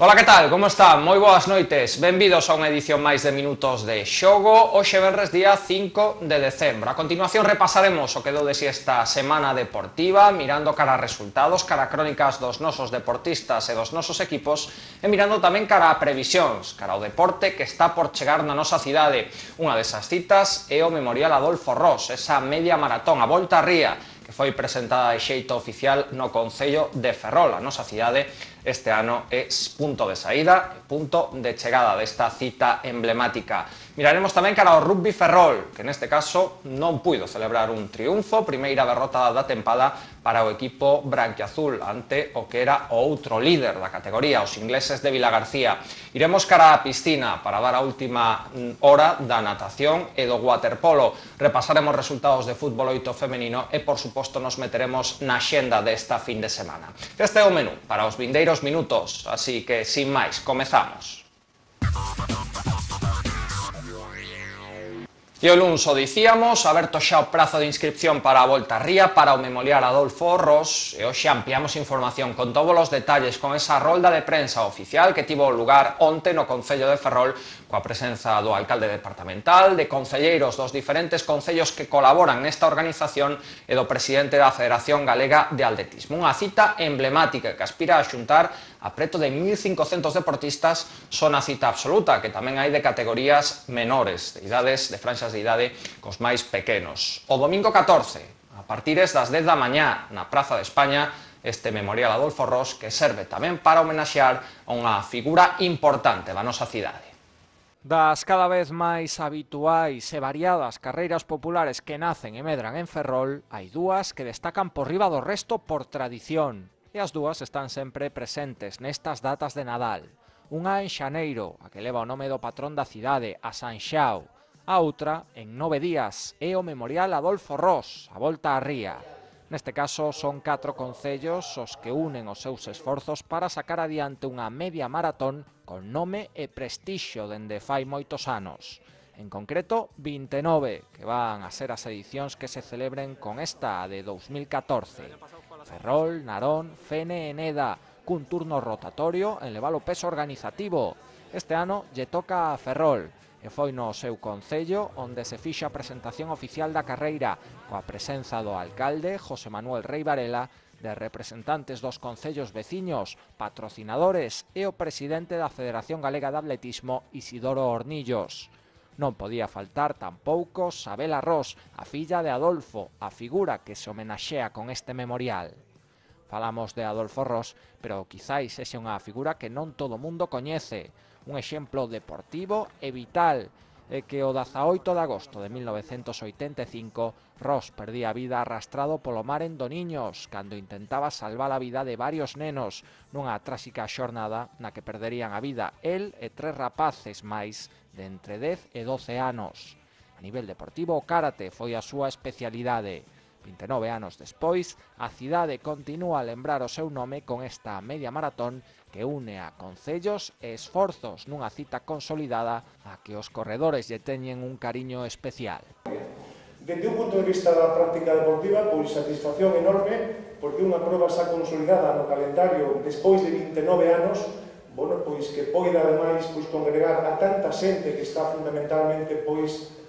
Ola, que tal? Como están? Moi boas noites. Benvidos a unha edición máis de Minutos de Xogo. Hoxe venres día 5 de decembro. A continuación repasaremos o que deu de si esta semana deportiva, mirando cara a resultados, cara a crónicas dos nosos deportistas e dos nosos equipos, e mirando tamén cara a previsións, cara ao deporte que está por chegar na nosa cidade. Unha desas citas é o Memorial Adolfo Ros, esa media maratón, a Volta á Ría, que foi presentada de xeito oficial no Concello de Ferrol, a nosa cidade. Este ano é punto de saída e punto de chegada desta cita emblemática. Miraremos tamén cara ao Rugby Ferrol, que neste caso non puido celebrar un triunfo, primeira derrota da tempada para o equipo branquiazul ante o que era o outro líder da categoría, os ingleses de Vilagarcía. Iremos cara á piscina para dar a última hora da natación e do waterpolo. Repasaremos resultados de fútbol 8 femenino e, por suposto, nos meteremos na xenda desta fin de semana. Este é o menú para os vindeiros minutos, así que, sin máis, comezamos. E o luns o dicíamos, aberto xa o prazo de inscripción para a Volta á Ría, para o Memorial Adolfo Ros, e hoxe ampliamos información con todos os detalles, con esa rolda de prensa oficial que tivo lugar onte no Concello de Ferrol, coa presenza do alcalde departamental, de concelleiros dos diferentes concellos que colaboran nesta organización e do presidente da Federación Galega de Atletismo. Unha cita emblemática que aspira a xuntar a preto de 1.500 deportistas, son a cita absoluta, que tamén hai de categorías menores, de idades, de franxas de idade cos máis pequenos. O domingo 14, a partires das 10 da mañá, na Praza de España, este Memorial Adolfo Ros, que serve tamén para homenaxear a unha figura importante da nosa cidade. Das cada vez máis habituais e variadas carreiras populares que nacen e medran en Ferrol, hai dúas que destacan por riba do resto por tradición. E as dúas están sempre presentes nestas datas de Nadal. Unha en xaneiro, a que leva o nome do patrón da cidade, a San Xao. A outra, en 9 días, é o Memorial Adolfo Ros, a Volta á Ría. Neste caso, son 4 concellos os que unen os seus esforzos para sacar adiante unha media maratón con nome e prestixio dende fai moitos anos. En concreto, 29, que van a ser as edicións que se celebren con esta de 2014. Ferrol, Narón, Fene e Neda, cun turno rotatorio en levar o peso organizativo. Este ano lle toca a Ferrol, e foi no seu concello onde se fixa a presentación oficial da carreira, coa presenza do alcalde, José Manuel Rei Varela, de representantes dos concellos veciños, patrocinadores e o presidente da Federación Galega de Atletismo, Isidoro Hornillos. Non podía faltar tampouco Sabela Ros, a filla de Adolfo, a figura que se homenaxea con este memorial. Falamos de Adolfo Ros, pero quizáis sexa unha figura que non todo mundo coñece. Un exemplo deportivo e vital é que o 18 de agosto de 1985 Ros perdía a vida arrastrado polo mar en Doniños cando intentaba salvar a vida de varios nenos nunha tráxica xornada na que perderían a vida el e 3 rapaces máis de entre 10 e 12 anos. A nivel deportivo, o karate foi a súa especialidade. 29 anos despois, a cidade continúa a lembrar o seu nome con esta media maratón que une a concellos e esforzos nunha cita consolidada a que os corredores lle teñen un cariño especial. Dende un punto de vista da práctica deportiva, pois satisfacción enorme, porque unha proba xa consolidada no calendario despois de 29 anos, pois que poida ademais congregar a tanta xente que está fundamentalmente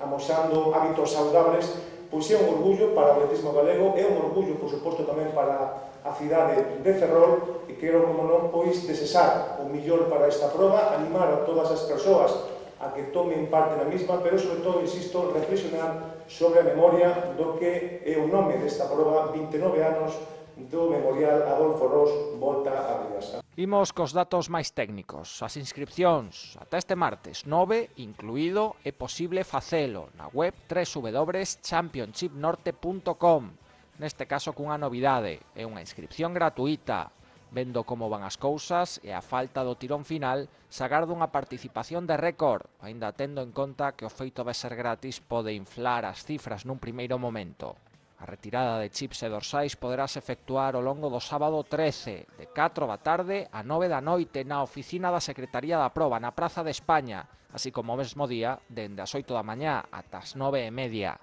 amosando hábitos saudables, pois é un orgullo para o atletismo galego, é un orgullo, por suposto, tamén para a cidade de Ferrol, e quero, como non, desexar o millor para esta proba, animar a todas as persoas a que tomen parte na mesma, pero, sobre todo, insisto, reflexionar sobre a memoria do que é o nome desta proba, 29 anos do Memorial Adolfo Ros, Volta á Ría. Imos cos datos máis técnicos. As inscripcións ata este martes 9, incluído, é posible facelo na web www.championshipnorte.com. Neste caso cunha novidade, é unha inscripción gratuita. Vendo como van as cousas e a falta do tirón final, se agarda unha participación de récord, aínda tendo en conta que o feito de ser gratis pode inflar as cifras nun primeiro momento. A retirada de chips e dorsais poderás efectuar ao longo do sábado 13, de 4 da tarde a 9 da noite na oficina da Secretaría da Proba, na Praza de España, así como o mesmo día, dende as 8 da mañá ata as 9:30.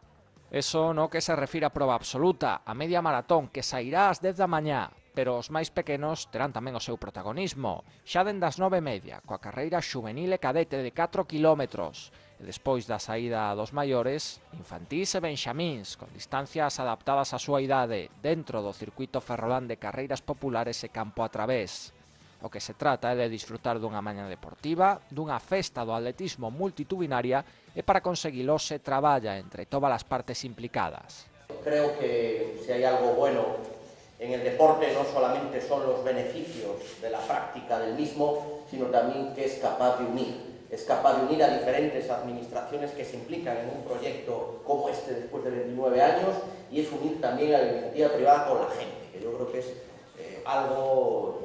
Eso no que se refire a proba absoluta, a media maratón, que sairá ás 10 da mañá. pero os máis pequenos terán tamén o seu protagonismo, xa dende as 9:30, coa carreira xuvenil e cadete de 4 kilómetros, e despois da saída dos maiores, infantís e benxamíns, con distancias adaptadas á súa idade, dentro do circuito ferrolán de carreiras populares e campo a través. O que se trata é de disfrutar dunha mañá deportiva, dunha festa do atletismo multitudinaria, e para conseguilo se traballa entre todas as partes implicadas. Creo que si hay algo bueno en el deporte no solamente son los beneficios de la práctica del mismo, sino también que es capaz de unir a diferentes administraciones que se implican en un proyecto como este después de 29 años, y es unir también a la iniciativa privada con la gente, que yo creo que es algo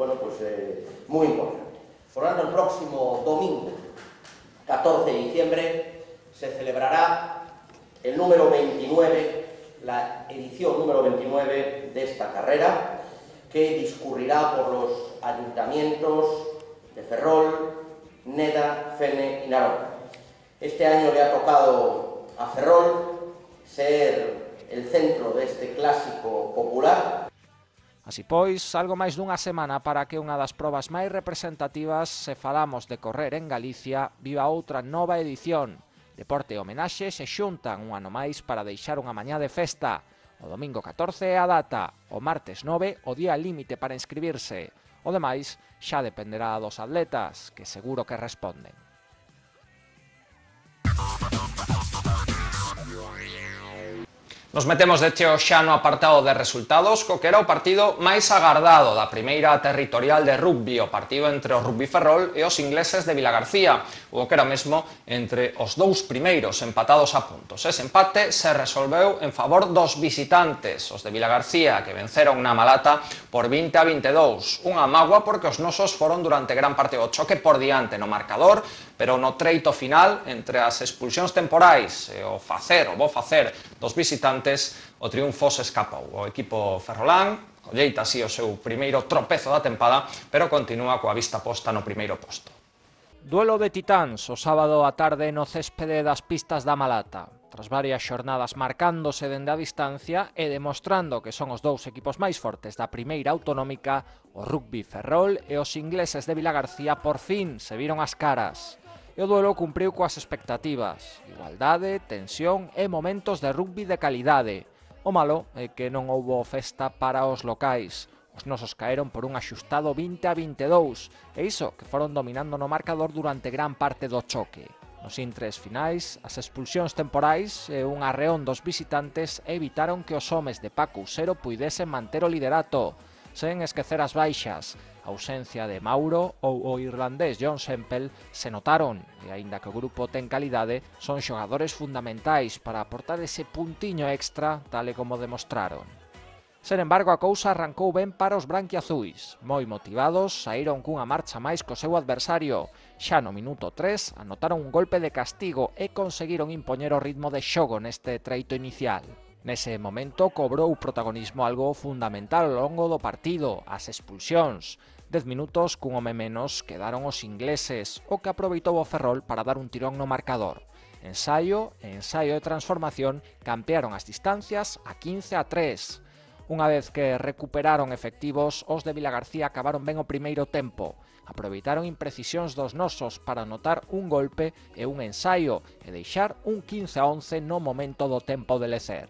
muy importante. Por lo tanto, el próximo domingo, 14 de diciembre, se celebrará el número 29, la edición número 29 de esta carrera, que discurrirá por los ayuntamientos de Ferrol, Neda, Fene y Narón. Este año le ha tocado a Ferrol ser el centro de este clásico popular. Así pois, algo máis dunha semana para que unha das probas máis representativas, se falamos de correr en Galicia, viva outra nova edición. Deporte e homenaxe se xuntan un ano máis para deixar unha mañá de festa. O domingo 14 é a data, o martes 9 o día límite para inscribirse. O demais xa dependerá dos atletas, que seguro que responden. Nos metemos de cheo xa no apartado de resultados, co que era o partido máis agardado da primeira territorial de rugby, o partido entre o Rugby Ferrol e os ingleses de Vilagarcía, o que era mesmo entre os dous primeiros empatados a puntos. Ese empate se resolveu en favor dos visitantes, os de Vilagarcía, que venceron na Malata por 20-22. Unha mágoa porque os nosos foron durante gran parte do choque por diante no marcador, pero no treito final, entre as expulsións temporais e o bo facer dos visitantes, o triunfo se escapou. O equipo ferrolán colleita así o seu primeiro tropezo da tempada, pero continúa coa vista posta no primeiro posto. Duelo de titáns o sábado á tarde no céspede das pistas da Malata. Tras varias xornadas marcándose dende a distancia e demostrando que son os dous equipos máis fortes da primeira autonómica, o Rugby Ferrol e os ingleses de Vilagarcía por fin se viron as caras. E o duelo cumpriu coas expectativas, igualdade, tensión e momentos de rugby de calidade. O malo é que non houbo festa para os locais. Os nosos caeron por un axustado 20-22, e iso que foron dominando no marcador durante gran parte do choque. Nos intres finais, as expulsións temporais e un arreón dos visitantes evitaron que os homes de Paco Usero puidesen manter o liderato, sen esquecer as baixas. A ausencia de Mauro ou o irlandés John Semple se notaron, e aínda que o grupo ten calidade, son xogadores fundamentais para aportar ese puntiño extra, tal e como demostraron. Sen embargo, a cousa arrancou ben para os branquiazuis. Moi motivados, saíron cunha marcha máis co seu adversario. Xa no minuto 3 anotaron un golpe de castigo e conseguiron impoñer o ritmo de xogo neste treito inicial. Nese momento cobrou protagonismo algo fundamental ao longo do partido, as expulsións. 10 minutos cun home menos quedaron os ingleses, o que aproveitou o Ferrol para dar un tirón no marcador. Ensaio de transformación campearon as distancias a 15-3. Unha vez que recuperaron efectivos, os de Vilagarcía acabaron ben o primeiro tempo. Aproveitaron imprecisións dos nosos para anotar un golpe e un ensaio e deixar un 15-11 no momento do tempo de lecer.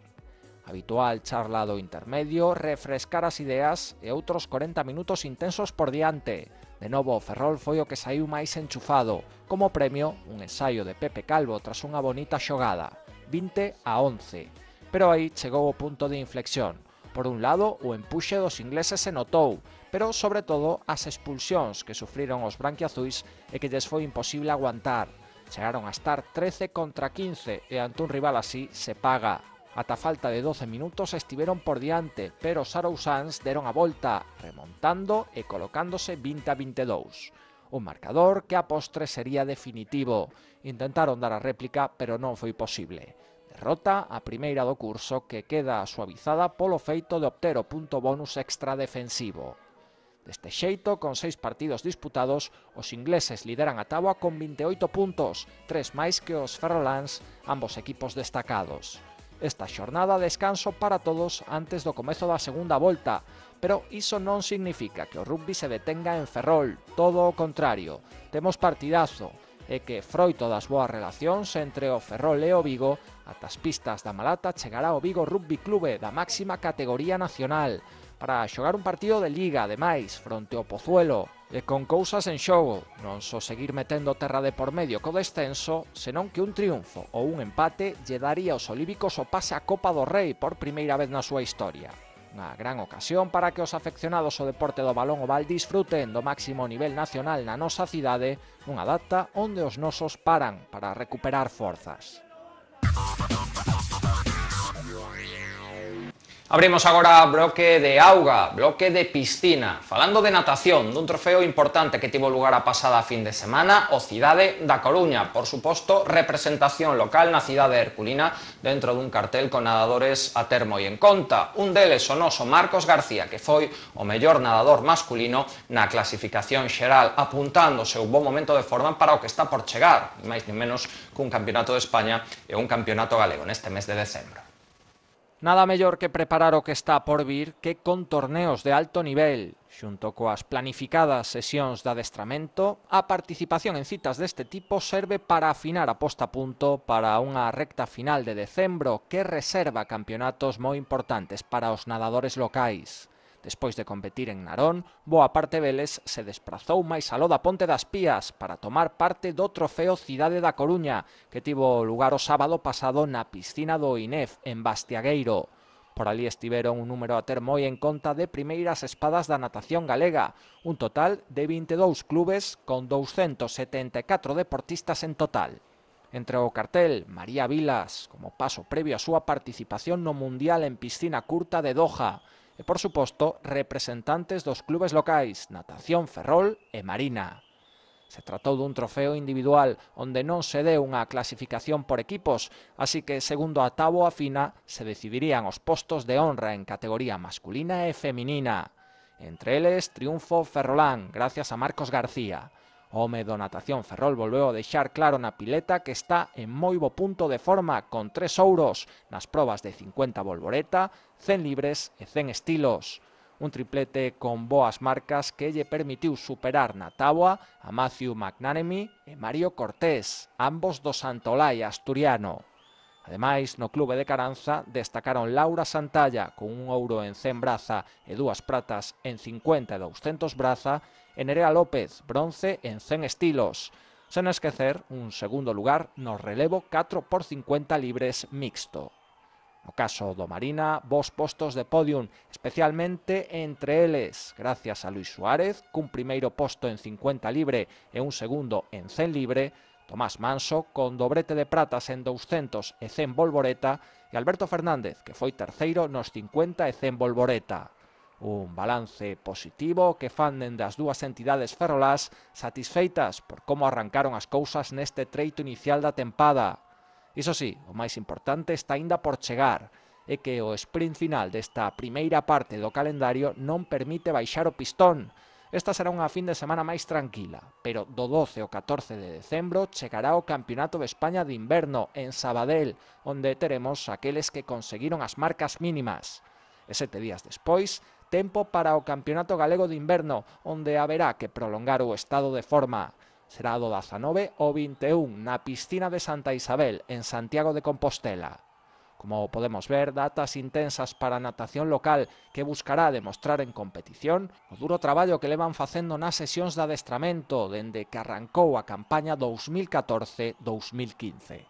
Habitual charla do intermedio, refrescar as ideas e outros 40 minutos intensos por diante. De novo, o Ferrol foi o que saiu máis enchufado. Como premio, un ensaio de Pepe Calvo tras unha bonita xogada. 20-11. Pero aí chegou o punto de inflexión. Por un lado, o empuxe dos ingleses se notou, pero sobre todo as expulsións que sufriron os branquiazuis e que lles foi imposible aguantar. Chegaron a estar 13-15 e ante un rival así se paga. Ata falta de 12 minutos estiveron por diante, pero os arousáns deron a volta, remontando e colocándose 20-22. Un marcador que a postre sería definitivo. Intentaron dar a réplica, pero non foi posible. Derrota a primeira do curso que queda suavizada polo feito de obter o punto bonus extra defensivo. Deste xeito, con 6 partidos disputados, os ingleses lideran a táboa con 28 puntos, 3 máis que os ferroláns, ambos equipos destacados. Esta xornada descanso para todos antes do comezo da segunda volta, Pero iso non significa que o rugby se detenga en Ferrol, todo o contrario. Temos partidazo, e que, froito das boas relacións entre o Ferrol e o Vigo, ata as pistas da Malata chegará o Vigo Rugby Clube da máxima categoría nacional, para xogar un partido de liga, ademais, fronte ao Pozuelo, e con cousas en xogo, non só seguir metendo terra de por medio co descenso, senón que un triunfo ou un empate lle daría aos olívicos o pase á Copa do Rei por primeira vez na súa historia. Unha gran ocasión para que os afeccionados ao deporte do balón oval disfruten do máximo nivel nacional na nosa cidade, nunha data onde os nosos paran para recuperar forzas. Abrimos agora bloque de auga, bloque de piscina. Falando de natación, dun trofeo importante que tivo lugar a pasada fin de semana, o Cidade da Coruña. Por suposto, representación local na cidade herculina dentro dun cartel con nadadores a ter moi en conta. Un deles o noso Marcos García, que foi o mellor nadador masculino na clasificación xeral, apuntando o seu bon momento de forma para o que está por chegar, ni máis ni menos cun campeonato de España e un campeonato galego neste mes de decembro. Nada mellor que preparar o que está por vir que con torneos de alto nivel. Xunto coas planificadas sesións de adestramento, a participación en citas deste tipo serve para afinar a posta a punto para unha recta final de decembro que reserva campeonatos moi importantes para os nadadores locais. Despois de competir en Narón, boa parte deles se desprazou máis aló da Ponte das Pías para tomar parte do trofeo Cidade da Coruña, que tivo lugar o sábado pasado na piscina do INEF, en Bastiagueiro. Por ali estiveron un número a ter moi en conta de primeiras espadas da natación galega, un total de 22 clubes con 274 deportistas en total. Entre o cartel, María Vilas, como paso previo a súa participación no Mundial en piscina curta de Doha, e, por suposto, representantes dos clubes locais, Natación Ferrol e Marina. Se tratou dun trofeo individual onde non se deu unha clasificación por equipos, así que, segundo a táboa fina, se decidirían os postos de honra en categoría masculina e feminina. Entre eles, triunfo ferrolán, gracias a Marcos García. O home do Natación Ferrol volveu a deixar claro na pileta que está en moi bo punto de forma con 3 ouros nas probas de 50 volvoreta, 100 libres e 100 estilos. Un triplete con boas marcas que lle permitiu superar na táboa a Matthew McNanemy e Mario Cortés, ambos do Santolai asturiano. Ademais, no clube de Caranza destacaron Laura Santalla con un ouro en 100 braza e 2 pratas en 50 e 200 braza, e Nerea López, bronce en 100 estilos. Sen esquecer un segundo lugar no relevo 4x50 libres mixto. No caso do Marina, vos postos de podium, especialmente entre eles, gracias a Luis Suárez, cun primeiro posto en 50 libre e un segundo en 100 libre, Tomás Manso, con dobrete de pratas en 200 e 100 volvoreta, e Alberto Fernández, que foi terceiro nos 50 e 100 volvoreta. Un balance positivo que fan dende as dúas entidades ferrolás satisfeitas por como arrancaron as cousas neste treito inicial da tempada. Iso sí, o máis importante está aínda por chegar, é que o sprint final desta primeira parte do calendario non permite baixar o pistón. Esta será unha fin de semana máis tranquila, pero do 12 ao 14 de decembro chegará o Campeonato de España de Inverno en Sabadell, onde teremos aqueles que conseguiron as marcas mínimas. E 7 días despois, tempo para o Campeonato Galego de Inverno, onde haberá que prolongar o estado de forma. Será do 19 ao 21 na piscina de Santa Isabel, en Santiago de Compostela. Como podemos ver, datas intensas para a natación local que buscará demostrar en competición o duro traballo que levan facendo nas sesións de adestramento dende que arrancou a campaña 2014-2015.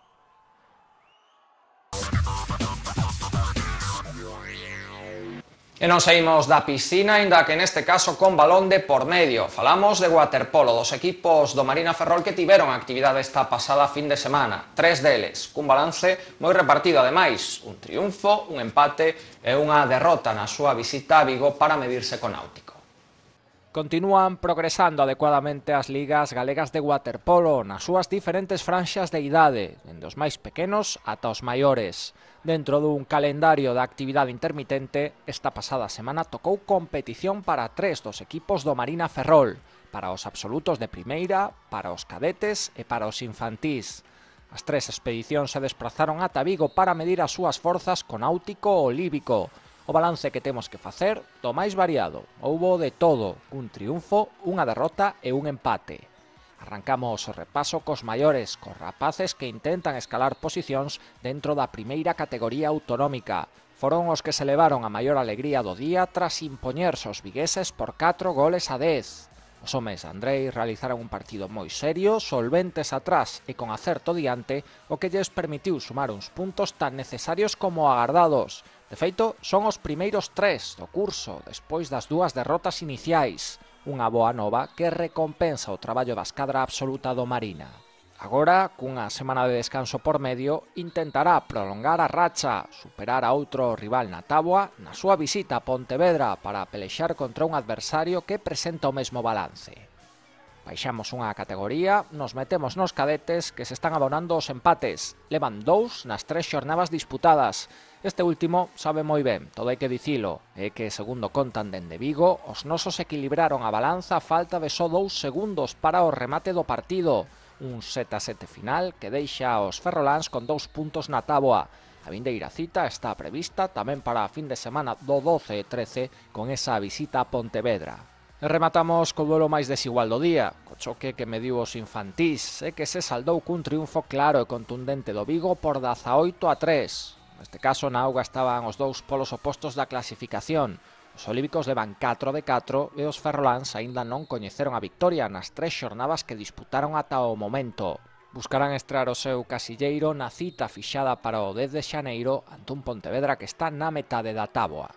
E non saímos da piscina, aínda que neste caso con balón de por medio. Falamos de waterpolo, dos equipos do Marina Ferrol que tiveron actividade esta pasada fin de semana. 3 deles, cun balance moi repartido ademais. Un triunfo, un empate e unha derrota na súa visita a Vigo para medirse con Náutico. Continúan progresando adecuadamente as ligas galegas de waterpolo nas súas diferentes franxas de idade, dende os máis pequenos ata os maiores. Dentro dun calendario de actividade intermitente, esta pasada semana tocou competición para 3 dos equipos do Marina Ferrol, para os absolutos de primeira, para os cadetes e para os infantís. As 3 expedicións se desprazaron ata Vigo para medir as súas forzas con Náutico o Líbico. O balance que temos que facer do máis variado. Houbo de todo, un triunfo, unha derrota e un empate. Arrancamos o repaso cos maiores, cos rapaces que intentan escalar posicións dentro da primeira categoría autonómica. Foron os que se levaron a maior alegría do día tras impoñerse os vigueses por 4 goles a 10. Os homes Andrei realizaron un partido moi serio, solventes atrás e con acerto diante, o que lles permitiu sumar uns puntos tan necesarios como agardados. De feito, son os primeiros 3 do curso, despois das 2 derrotas iniciais. Unha boa nova que recompensa o traballo da escadra absoluta do Marina. Agora, cunha semana de descanso por medio, intentará prolongar a racha, superar a outro rival na táboa na súa visita a Pontevedra para pelexar contra un adversario que presenta o mesmo balance. Baixamos unha categoría, nos metemos nos cadetes que se están abonando os empates. Levan 2 nas 3 xornadas disputadas. Este último sabe moi ben, todo hai que dicilo, é que, segundo contan dende Vigo, os nosos equilibraron a balanza a falta de só 2 segundos para o remate do partido. Un 7-7 final que deixa aos ferroláns con 2 puntos na táboa. A vindeira cita está prevista tamén para a fin de semana do 12 e 13 con esa visita a Pontevedra. E rematamos co duelo máis desigual do día, co choque que mediu os infantís e que se saldou cun triunfo claro e contundente do Vigo por 18-3. Neste caso na auga estaban os dous polos opostos da clasificación. Os olímpicos levan 4 de 4 e os ferroláns aínda non coñeceron a victoria nas 3 xornadas que disputaron ata o momento. Buscarán estrear o seu casilleiro na cita fixada para o 10 de xaneiro ante un Pontevedra que está na metade da táboa.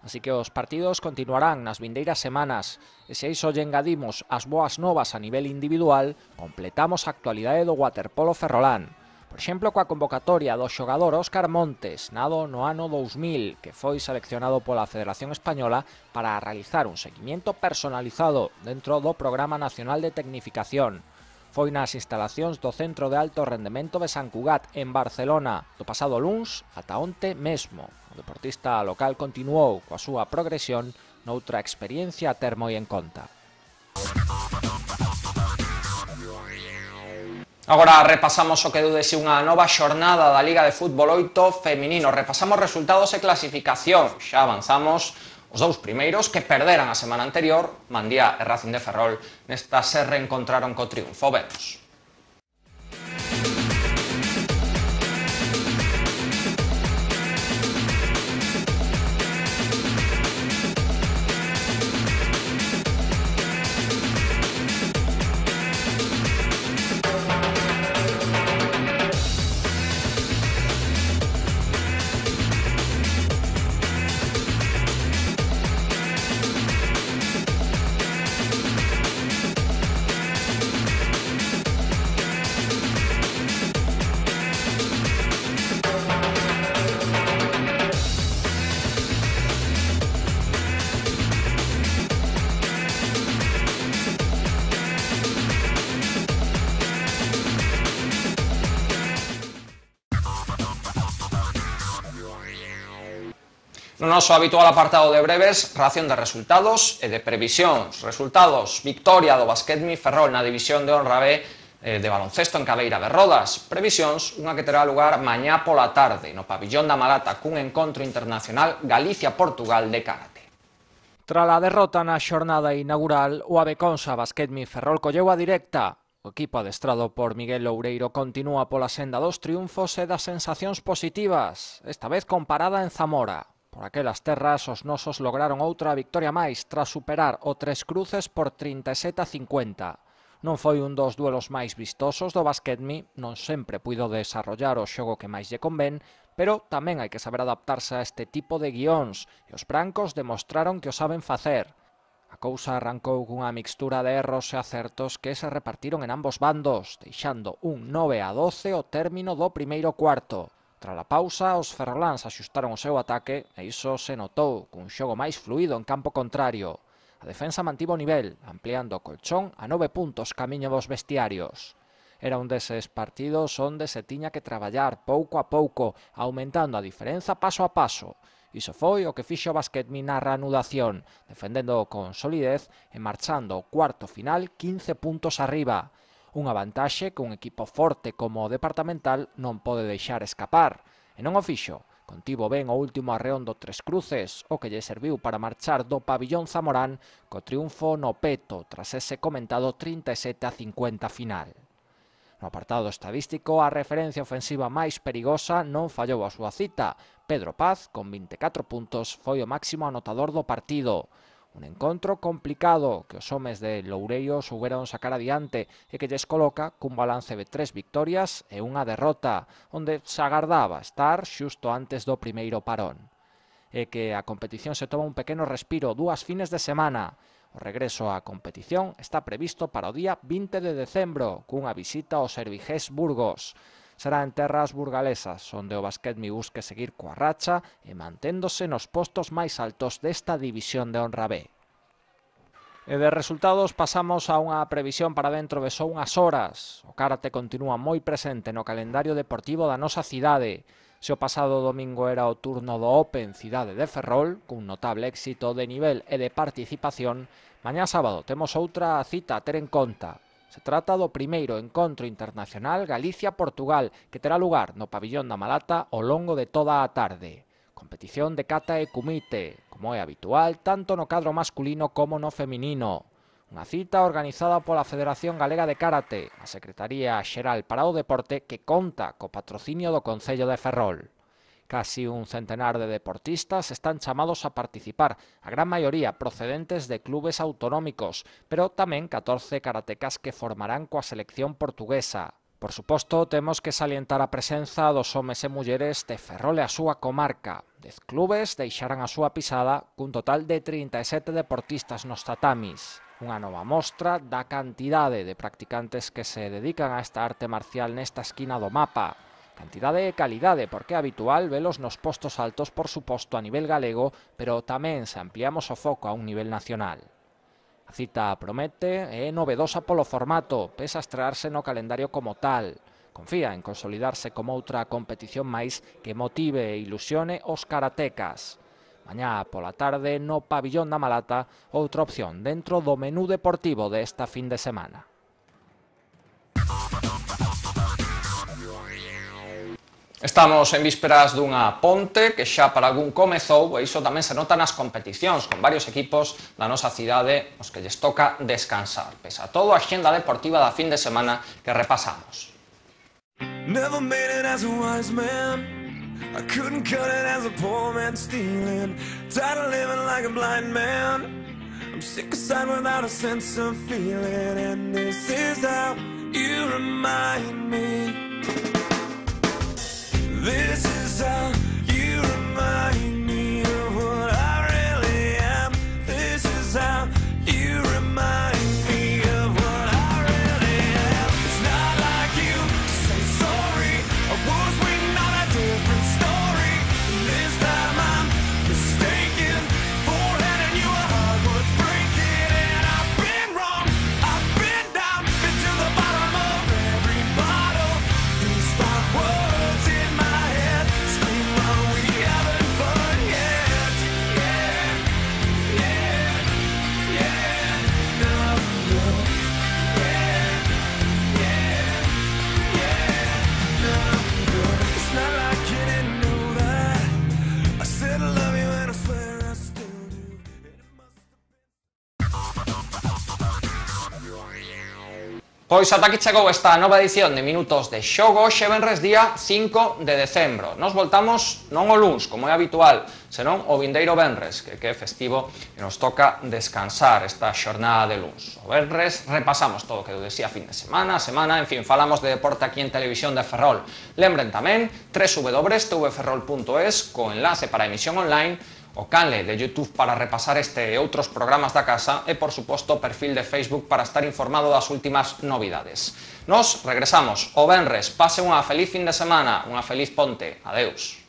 Así que os partidos continuarán nas vindeiras semanas, e se a iso lle engadimos as boas novas a nivel individual, completamos a actualidade do waterpolo ferrolán. Por exemplo, coa convocatoria do xogador Óscar Montes, nado no ano 2000, que foi seleccionado pola Federación Española para realizar un seguimiento personalizado dentro do Programa Nacional de Tecnificación. Foi nas instalacións do Centro de Alto Rendemento de Sant Cugat, en Barcelona, do pasado luns ata onte mesmo. O deportista local continuou coa súa progresión noutra experiencia a ter moi en conta. Agora repasamos o que deu de si unha nova xornada da Liga de Fútbol 8 feminino. Repasamos resultados e clasificación. Xa avanzamos os dous primeiros que perderan a semana anterior, Mandía e Racing de Ferrol, nesta se reencontraron co triunfo. Vemos. No noso habitual apartado de breves, ración de resultados e de previsións. Resultados: victoria do Basquetmi Ferrol na división de honra B de baloncesto en Cabeira de Rodas. Previsións: unha que terá lugar mañá pola tarde no pabillón da Malata cun encontro internacional Galicia-Portugal de karate. Tras a derrota na xornada inaugural, o Aveconsa Basquetmi Ferrol colleu a directa. O equipo adestrado por Miguel Loureiro continúa pola senda dos triunfos e das sensacións positivas, esta vez comparada en Zamora. Por aquelas terras, os nosos lograron outra victoria máis tras superar o Tres Cruces por 37-50. Non foi un dos duelos máis vistosos do Basquetmi, non sempre puido desarrollar o xogo que máis lle convén, pero tamén hai que saber adaptarse a este tipo de guións, e os brancos demostraron que o saben facer. A cousa arrancou cunha mixtura de erros e acertos que se repartiron en ambos bandos, deixando un 9-12 ao término do primeiro cuarto. Tras a pausa, os ferroláns axustaron o seu ataque e iso se notou cun xogo máis fluido en campo contrario. A defensa mantivo o nivel, ampliando o colchón a 9 puntos camiño dos vestiarios. Era un deses partidos onde se tiña que traballar pouco a pouco, aumentando a diferenza paso a paso. Iso foi o que fixo o Basquetmi na reanudación, defendendo con solidez e marchando ao cuarto final 15 puntos arriba. Unha vantaxe que un equipo forte como o Departamental non pode deixar escapar. E non o fixo. Contivo ben o último arreón do Tres Cruces, o que lle serviu para marchar do pabillón zamorán co triunfo no peto tras ese comentado 37-50 final. No apartado estadístico, a referencia ofensiva máis perigosa non fallou a súa cita. Pedro Paz, con 24 puntos, foi o máximo anotador do partido. Un encontro complicado que os homes de Loureiro souberon sacar adiante e que lles coloca cun balance de 3 victorias e unha derrota, onde se agardaba estar xusto antes do primeiro parón. E que a competición se toma un pequeno respiro 2 fines de semana. O regreso á competición está previsto para o día 20 de decembro, cunha visita ao Servigés Burgos. Será en terras burgalesas, onde o basquetmi busque seguir coa racha e manténdose nos postos máis altos desta división de honra B. E de resultados pasamos a unha previsión para dentro de só unhas horas. O karate continúa moi presente no calendario deportivo da nosa cidade. Se o pasado domingo era o turno do Open Cidade de Ferrol, cun notable éxito de nivel e de participación, mañá sábado temos outra cita a ter en conta. Se trata do primeiro encontro internacional Galicia-Portugal, que terá lugar no pabillón da Malata ao longo de toda a tarde. Competición de kata e kumite, como é habitual tanto no cadro masculino como no feminino. Unha cita organizada pola Federación Galega de Karate, a Secretaría Xeral para o Deporte, que conta co patrocinio do Concello de Ferrol. Casi un centenar de deportistas están chamados a participar, a gran maioría procedentes de clubes autonómicos, pero tamén 14 karatecas que formarán coa selección portuguesa. Por suposto, temos que salientar a presenza dos homes e mulleres de Ferrol e a súa comarca. 10 clubes deixarán a súa pisada cun total de 37 deportistas nos tatamis. Unha nova mostra da cantidade de practicantes que se dedican a esta arte marcial nesta esquina do mapa. Cantidade e calidade, porque é habitual velos nos postos altos, por suposto, a nivel galego, pero tamén se ampliamos o foco a un nivel nacional. A cita promete e é novedosa polo formato, pese a estrearse no calendario como tal. Confía en consolidarse como outra competición máis que motive e ilusione os karatecas. Mañá pola tarde no pabillón da Malata, outra opción dentro do menú deportivo desta fin de semana. Estamos en vísperas dunha ponte que xa para algún comezou, e iso tamén se nota nas competicións, con varios equipos da nosa cidade os que lles toca descansar, pese a todo a axenda deportiva da fin de semana que repasamos. Never made it as a wise man. I couldn't cut it as a poor man stealing. Tired of living like a blind man. I'm sick aside without a sense of feeling. And this is how you remind me. This is how you remind me of what I really am. This is how you remind me of what I really am. It's not like you to say sorry. I was waiting on a different story. This time I'm mistaken for handing you a heart worth breaking. And I've been wrong, I've been down, been to the bottom of every bottle. These five words in my head scream, are we having fun yet? Yeah, yeah, yeah, no, no. Yeah, yeah, yeah, no, no. It's not like you didn't know that. I said I love you and I swear I still do. Pois ata aquí chegou esta nova edición de Minutos de Xogo, xe venres día 5 de decembro. Nos voltamos non o luns, como é habitual, senón o vindeiro venres, que é festivo e nos toca descansar esta xornada de luns. O venres repasamos todo o que decía fin de semana, en fin, falamos de deporte aquí en Televisión de Ferrol. Lembren tamén www.tvferrol.es co enlace para emisión online, o canle de YouTube para repasar este e outros programas da casa e, por suposto, o perfil de Facebook para estar informado das últimas novidades. Nos regresamos o venres. Pase unha feliz fin de semana, unha feliz ponte. Adeus.